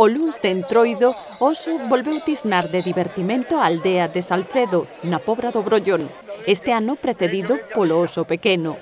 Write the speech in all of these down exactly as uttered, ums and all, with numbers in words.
O luns de Entroido, Oso volveu tisnar de divertimento a aldea de Salcedo, na Pobra do Brollón, este ano precedido polo oso pequeno.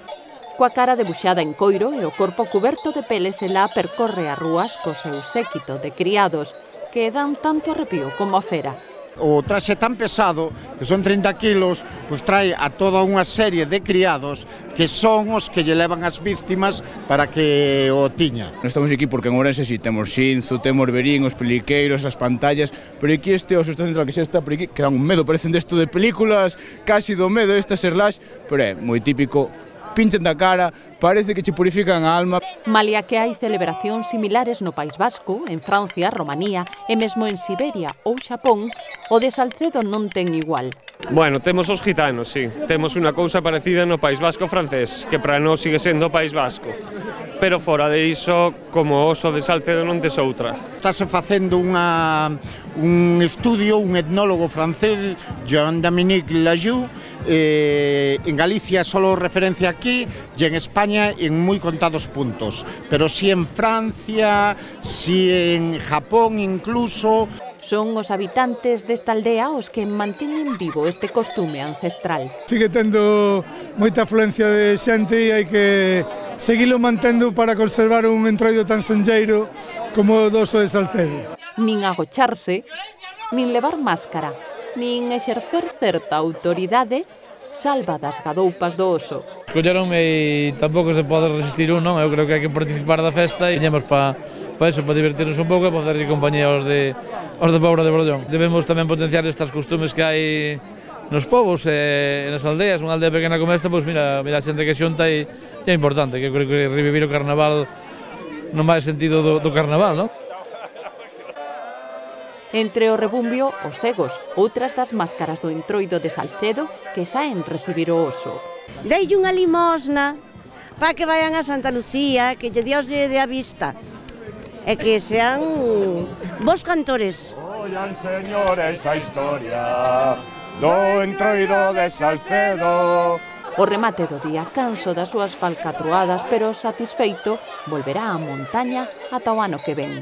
Coa cara debuxada en coiro e o corpo cuberto de peles, ela percorre as rúas co seu séquito de criados, que dan tanto arrepío como a fera. O traxe tan pesado, que son trinta kilos, pois trae a toda unha serie de criados que son os que lle levan as víctimas para que o tiña. Non estamos aquí porque en Ourense si temos Xinzo, temos Verín, os peliqueiros, as pantallas, pero aquí este oso está central que xa está por aquí, que dan un medo, parecen desto de películas, casi do medo, esta serlax, pero é moi típico, pinchan da cara, parece que che purifican a alma. Malia que hai celebracións similares no País Vasco, en Francia, Romanía e mesmo en Siberia ou Xapón, o de Salcedo non ten igual. Bueno, temos os gitanos, sí. Temos unha cousa parecida no País Vasco francés, que para nós sigue sendo o País Vasco. Pero fora de iso, como o oso de Salcedo non tes outra. Estase facendo unha, un estudio, un etnólogo francés, Jean-Dominique Lajoux, eh, en Galicia solo referencia aquí e en España en moi contados puntos, pero si en Francia, si en Japón incluso. Son os habitantes desta aldea os que manteñen vivo este costume ancestral. Sigue tendo moita afluencia de xente e hai que seguilo mantendo para conservar un entroido tan senlleiro como o do oso de Salcedo. Nin agocharse, nin levar máscara, nin exercer certa autoridade salva das gadoupas do oso. Escolleronme e tampouco se pode resistir un, non? Eu creo que hai que participar da festa e viñemos para pa eso, para divertirnos un pouco e para facerlle compañía aos de, aos de Pobra de Brollón. Debemos tamén potenciar estas costumes que hai nos povos e nas aldeas. Unha aldea pequena como esta, pois mira, mira a xente que xunta e é importante, que eu creo que revivir o carnaval non vai sentido do, do carnaval, non? Entre o rebumbio, os cegos, outras das máscaras do Entroido de Salcedo que saen recibir o oso. Deille unha limosna para que vayan a Santa Lucía, que lle Dios lle dé a vista e que sean bons cantores. Oian, señores, a historia do Entroido de Salcedo. O remate do día, canso das súas falcatruadas, pero satisfeito, volverá á montaña ata o ano que ven.